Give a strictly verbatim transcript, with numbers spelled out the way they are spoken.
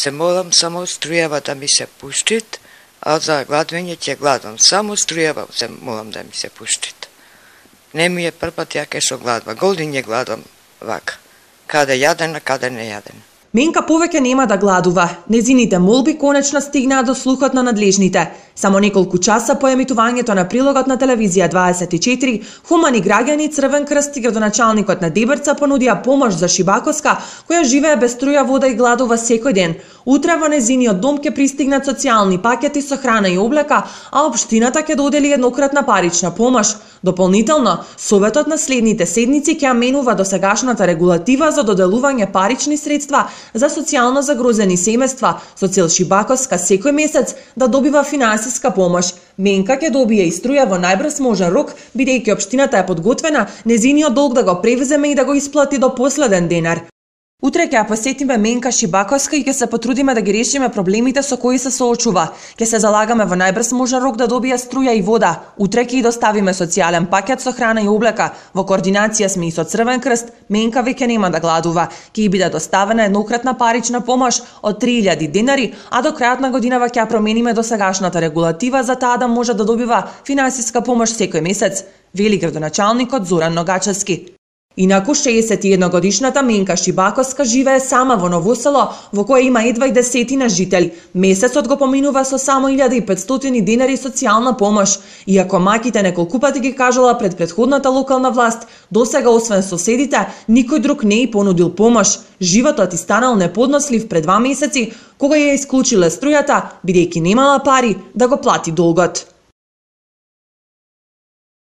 Се молам само струјава да ми се пуштит, а за гладување ќе гладам. Само струјава се молам да ми се пуштит. Не ми е првпат ја кај што гладва. Години гладам вака. Каде јаден, а каде не јаден. Менка повеќе нема да гладува. Незините молби конечно стигнаа до слухот на надлежните. Само неколку часа по емитувањето на прилогот на телевизија дваесет и четири, хумани граѓани, Црвен крст и градоначалникот на Дебрца понудија помош за Шибаковска, која живее без струја, вода и гладува секој ден. Утре во незиниот дом ќе пристигнат социјални пакети со храна и облека, а општината ќе додели еднократна парична помош. Дополнително, Советот на следните седници ќе менува досегашната регулатива за доделување парични средства за социјално загрозени семејства со цел Шибаковска секој месец да добива финансиска помош. Менка ќе добие и струја во најбрз можен рок, бидејќи општината е подготвена незиниот долг да го превземе и да го исплати до последен денар. Утре ќе ја посетиме Менка Шибаковска и ќе се потрудиме да ги решиме проблемите со кои се соочува. Ќе се залагаме во најбрз можен рок да добие струја и вода. Утре ќе ја доставиме социјален пакет со храна и облека. Во координација сме и со Црвен крст. Менка веќе нема да гладува. Ќе ја биде доставена еднократна парична помош од три илјади денари, а до крајот на годинава ќе ја промениме досегашната регулатива за таа да може да добива финансиска помош секој месец, вели градоначалникот Зоран Ногачевски. Инаку шеесет и едногодишната Менка Шибаковска живее сама во ново село, во кое има едва и десетина жители. Месецот го поминува со само илјада и петстотини денари социјална помош. Иако маките неколку пати ги кажала пред претходната локална власт, досега освен соседите, никој друг не и понудил помош. Животот и станал неподнослив пред два месеци, кога ја исклучиле струјата, бидејќи немала пари да го плати долгот.